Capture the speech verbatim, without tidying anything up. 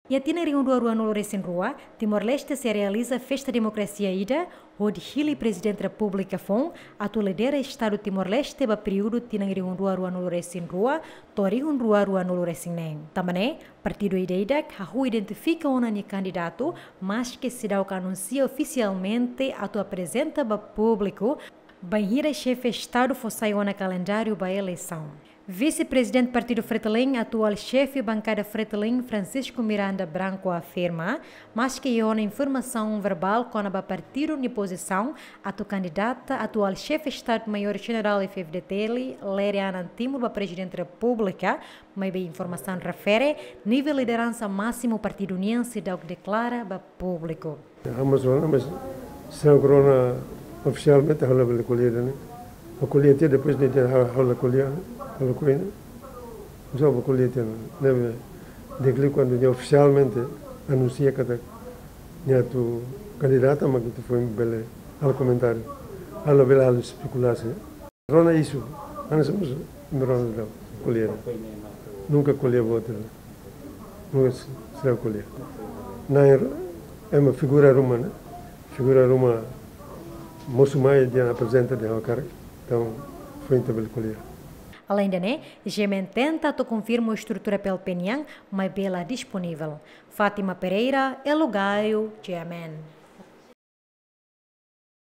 Iha tinan rihun rua ruanulu resin rua, Timor-Leste sei realiza festa demokrasia ida, hodi hili Prezidente Repúblika foun atu lidera Estadu Timor-Leste ba períodu tinan rihun rua ruanulu resin rua to'o rihun rua ruanulu resin neen. Tanba ne'e, partidu ida-idak hahú identifika ona nia kandidatu, maske seidauk anunsia ofisialmente atu aprezenta ba públiku, bainhira xefe Estadu fó sai ona kalendáriu ba eleisaun. Vise-Prezidente Partidu Fretilin, atuál xefe bankada Fretilin, Francisco Miranda Branco, afirma, maske iha ona informasaun verbál kona-ba partidu nia pozisaun atu kandidata atuál xefe Estadu-Maiór Jenerál F-FDTL, Lere Anan Timur, ba Prezidente Repúblika, maibé informasaun refere nivel lideransa másimu partidu nian seidauk deklara ba públiku. Ha'u mós rona, mas seidauk rona ofisialmente ha'u labele ko'alia ida-ne'e. Ha'u ko'alia tiha depois de ha'u, ha'u la ko'alia, ha'u la ko'alia. Mas ha'u ko'alia tiha, ne'ebé deklara kuandu nia ofisialmente anunsia katak nia atu kandidata, mak ita foin bele halo komentáriu. Ha'u labele halo espekulasaun. Rona isu, hanesan mós imi rona daudaun, ko'alia. Nunka ko'alia buat ida. Nunka s-, seidauk ko'alia. Na'in ema figura ruma ne'e, figura ruma mosu mai dehan aprezenta dehan ha'u hakarak, entaun foin ita bele ko'alia. Além de ne'e, G M N tenta atu konfirma estrutura P L P nian, maibé la disponivel. Fátima Pereira, Elo Gaio, G M N.